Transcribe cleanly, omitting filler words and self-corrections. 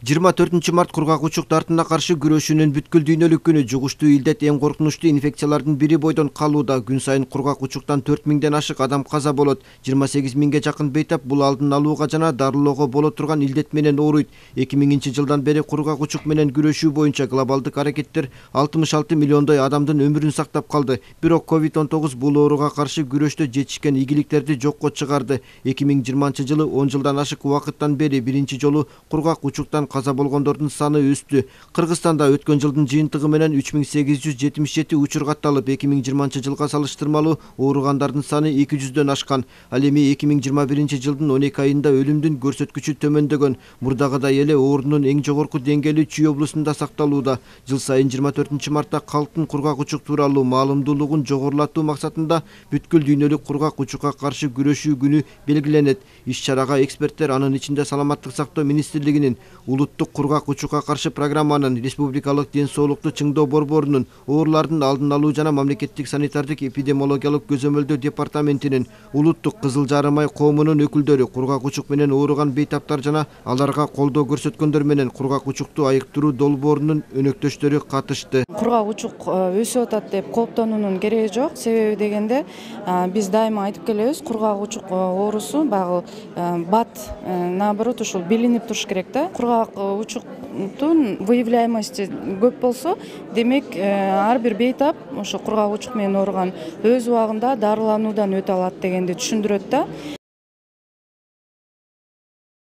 24 март кургак учук дартына каршы күрөшүүнүн бүткүл дүйнөлүк күнү. Жугуштуу илдет эң коркунучтуу инфекциялардын бири бойдон калууда. Күн сайын кургак учуктан 4000ден ашык адам каза болот. 28 миңге жакын бейтап бул алдын алууга жана дарылоого боло турган илдет менен ооруйт. 2000-жылдан бери кургак учук менен күрөшүү боюнча глобалдык аракеттер 66 миллиондой адамдын өмүрүн сактап калды. Бирок COVID-19 бул ооруга каршы күрөштө жетишкен ийгиликтерди жокко чыгарды. 2020-жылы 10 жылдан ашык убакыттан бери биринчи жолу кургак учуктан каза болгондордун саны өстү. Кыргызстанда өткөн жылдын жыйынтыгы менен 3877 учур катталып, 2020-жылга салыштырмалуу ооругандардын саны 200дөн ашкан. Ал эми 2021-жылдын 12 айында өлүмдүн көрсөткүчү төмөндөгөн. Мурдагыдай эле оорунун эң жогорку деңгээли Чүй облусунда сакталууда. Жыл сайын 24-мартта калктын кургак учук тууралуу маалымдуулугун жогорулатуу максатында бүткүл дүйнөлүк кургак учукка каршы күрөшүү күнү белгиленет. Иш-чарага эксперттер, анын ичинде Саламаттык сактоо министрлигинин, улуттук кургак учукка каршы программанын, республикалык ден соолукту чыңдоо борборунун, оорулардын алдын алуу жана мамлекеттик санитардык эпидемиологиялык көзөмөлдөө департаментинин, улуттук Кызыл Жарым ай коомунун өкүлдөрү, кургак учук менен ооруган бейтаптар жана аларга колдоо көрсөткөндөр менен кургак учукту айыктыруу долбоорунун өнөктөштөрү катышты. Кургак учук өсүп атат деп кооптонуунун кереги жок. Себеби дегенде биз дайыма айтып келебиз, кургак учук оорусу баягы бат, наоборот, ушул билинип туруш керек да. Кургак учуктун выявляемости көп болсо, демек ар бир бейтап ошо кургак учук менен ооруган өз убагында дарылануудан өтө алат дегенди түшүндүрөт да.